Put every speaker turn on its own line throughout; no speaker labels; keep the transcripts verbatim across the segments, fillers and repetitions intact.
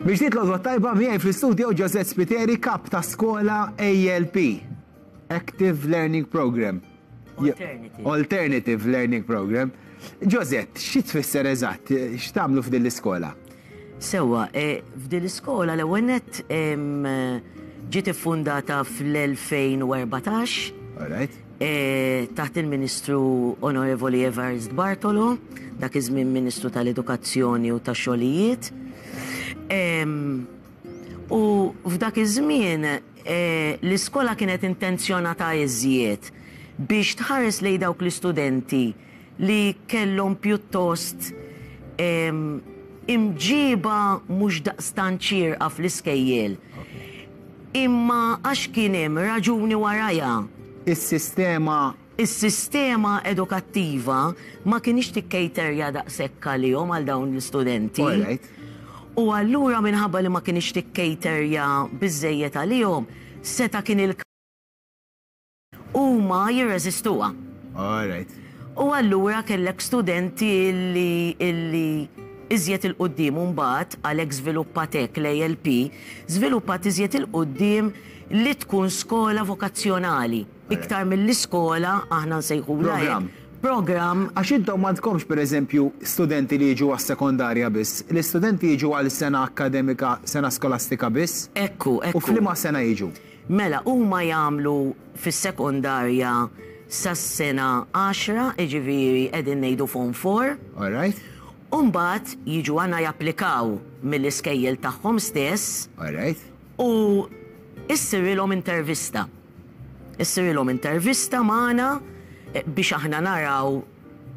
Mill-ġdid l-għodwa t-tajba, miegħi fl-istudio Josette Spiteri, kap ta' skola A L P, Active Learning Program.
Alternative.
Alternative Learning Program. Josette, xi tfisser eżatt? X'tagħmlu f'din l-iskola?
Sewa, e, f'din l-iskola l-ewwel nett em, ġiet iffundata fl-elfejn u erbatax
All right.
e, taħt il-Ministru Onorevoli Evarist Bartolo, dak iż-żmien Ministru tal-Edukazzjoni u tax-Xogħlijiet. Em, U f'dak iż-żmien e, l-iskola kienet intenzjonata iżjed biex tħares lejn dawk l-istudenti li kellhom pjuttost em, imġiba mhux daqstant xierqa fl-iskejjel. Imma għax kien hemm raġuni warajha.
Is-sistema
Is-sistema edukattiva ma kienx tikkejterja daqshekk għalihom, għal dawn l-istudenti.
All right.
U allura minħabba li ma kienx tikkejterja biżejjed għalihom, seta' kien il huma jirreżistuha.
All right.
U allura kellek studenti illi illi iżjed 'il quddiem mbagħad għalhekk żviluppat hekk l-A L P, żviluppat iżjed 'il quddiem li tkun skola vokazzjonali. Iktar mill-iskola aħna nsejħulha hekk.
Program.
Program.
Għax intom m'għandkomx, per eżempju, studenti li jiġu għas-sekondarja biss. L-istudenti jiġu għal sena akademika, sena skolastika biss?
Ekku, ekku.
U f'liema sena jiġu?
Mela, huma jagħmlu fis-sekondarja sas-sena għaxra, jiġifieri qegħdin ngħidu Form four.
All right.
Umbagħad jiġu għandna japplikaw mill-iskejjel tagħhom stess
All right.
u issirilhom intervista. Issirilhom intervista magħna eh, biex aħna naraw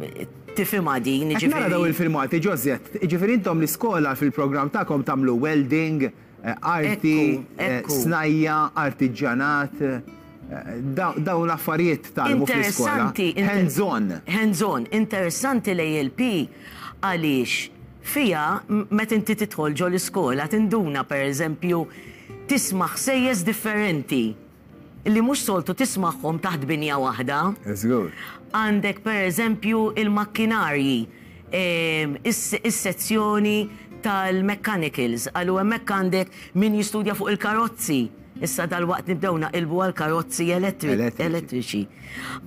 eh, tifhimha din,
Qed nara daw il-filmati, Josette, jiġifieri intom l-iskola fil-programm tagħkom tagħmlu welding, eh, arti,
Ekku,
eh,
ekku.
snajja, artiġjanat, eh, daw dawn l-affarijiet tgħallmu fl-iskola.
Interessanti. inter-
Hands-on.
Hands-on. Interessanti l-A L P għaliex fija m- meta inti tidħol ġo l-iskola tinduna, per eżempju, tisma' ħsejjes differenti li mhux soltu tismagħhom taħt binja waħda.
Żgur.
Għandek, per eżempju, il-makkinarji, em, is- is-sezzjoni tal-mechanicals, għallu hemmhekk għandek min jistudja fuq il-karozzi. Issa dal-waqt nibdew naqilbu għal karozzi elettri-
Elettriċi.
elettriċi.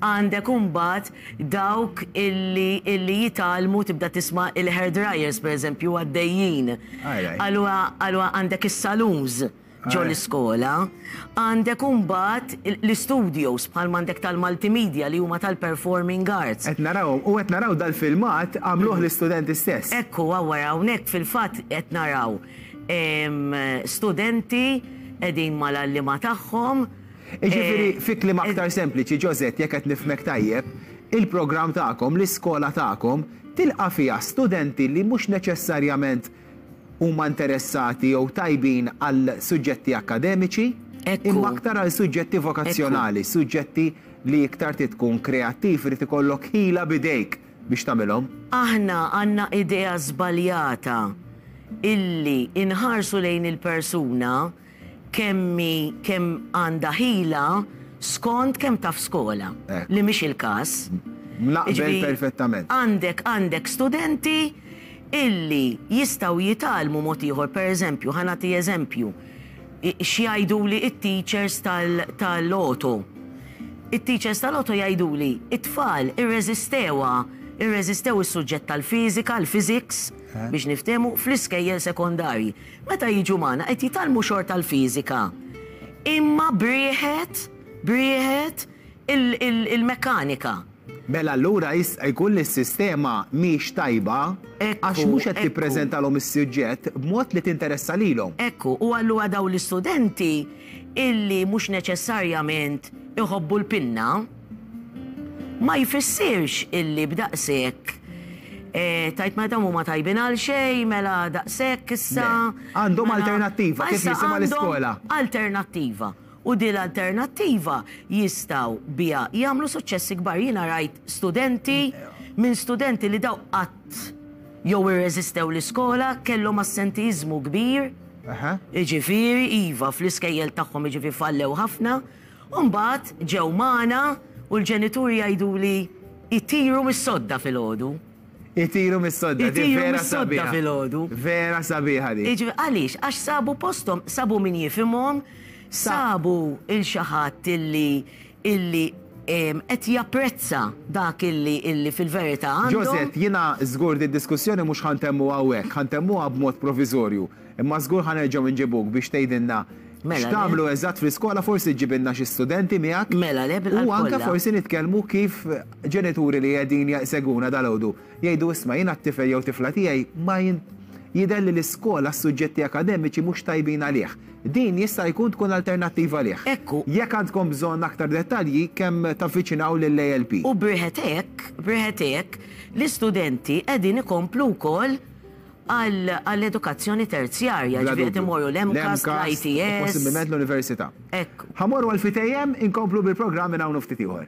Għandek imbagħad dawk illi, illi jitgħallmu, tibda tisma' il-hair dryers, per eżempju, għaddejjin.
Alright.
Allura allura għandek is-saloons ġo
Alright.
l-iskola, għandek imbagħad l-studios bħal m'għandek tal-multimedia li huma tal-performing arts.
Qed naraw, u qed naraw dal-filmat għamluh l-istudenti stess.
Ekku, għawar hawnhekk fil-fatt qed naraw em, studenti qegħdin mal-għalliema tagħhom.
Jiġifieri,
Eh,
fi kliem aktar sempliċi, Josette, jekk qed nifhmek tajjeb, il-programm tagħkom, l-iskola tagħkom, tilqa' fiha studenti li mhux neċessarjament huma interessati jew tajbin għal suġġetti akademiċi,
Ekku.
imma aktar għal suġġetti vokazzjonali, suġġetti li iktar trid tkun kreattiv, irid ikollok ħila bidejk biex tagħmilhom.
Aħna għandna idea żbaljata illi inħarsu lejn il-persuna kemmi kemm għandha ħila skont kemm taf skola.
Ekku.
Li mhix il-każ.
Naqbel
Jiġifieri,
perfettament.
Għandek għandek studenti illi jistgħu jitgħallmu mod ieħor, per eżempju, ħa nagħti eżempju, x'jgħiduli it-teachers tal-auto. It-teachers tal-auto jgħiduli, it-tfal irreżistewha, irreżistew is-suġġett tal-fiżika, l-physics, biex niftehmu, fl-iskejjel sekondarji. Meta jiġu magħna qed jitgħallmu xorta l-fiżika. Imma b'riħet, b'riħet il-mekkanika.
Mela allura jista' jkun li s-sistema mhix tajba
Ekku,
għax mhux qed
ekku.
tippreżentalhom is-suġġett b'mod li tinteressa lilhom.
Ekku, u allura daw l-istudenti illi mhux neċessarjament iħobbu l-pinna, ma jfissirx illi b'daqshekk eh, tajt ma dawn huma tajbin għal xejn, mela daqshekk issa.
Le, għandhom
mela-
alternattiva, kif
Issa
jisimha
għandhom
l-iskola.
Alternattiva. U din l-alternattiva jistgħu biha jagħmlu suċċessi kbar. Jiena rajt studenti minn studenti li daw qatt jew irreżistew l-iskola, kellhom assentiżmu kbir.
Aha.
Jiġifieri, iva, fl-iskejjel tagħhom, jiġifieri fallew ħafna. U mbagħad ġew magħna u l-ġenituri jgħiduli Itiru mis-sodda filgħodu.
Itiru mis-sodda, di
Itiru
vera
mis-sodda
sabiħa.
filgħodu.
Vera sabiħa di.
Iġifieri, għaliex? Għax sabu posthom, sabu min jifhimhom, sabu lil xi ħadd illi illi em, qed japprezza dak illi illi fil-verità għandhom.
Josette, jiena żgur di diskussjoni mhux ħa ntemmu hawnhekk, ħa ntemmuha b'mod provizorju. Imma żgur ħa nerġgħu nġibuk biex tgħidilna
Mela,
x'tagħmlu eżatt fl-iskola, forsi ġġibilna xi studenti miegħek.
Mela, le, bil-qalb
U anke
kollha.
forsi nitkellmu kif ġenituri li qegħdin jsegwuna dalgħodu jgħidu, "Isma', jiena t-tifel jew tifla tiegħi ma jien jidher li l-iskola s-suġġetti akademiċi mhux tajbin għalih." Din jista' jkun tkun alternattiva għalih.
Ekku.
Jekk għandkom bżonn aktar dettalji, kemm tavviċinaw lill-A L P.
U briħetek, briħetek, l-istudenti qegħdin ikomplu wkoll għall-edukazzjoni terzjarja,
Bla
ġifieri qed
dubju.
imorru l-MCAST,
u
l-I T S.
Possibilment l-università.
Ekku.
Ħa mmorru għal ftit u inkomplu bil-programm minn hawn ftit ieħor.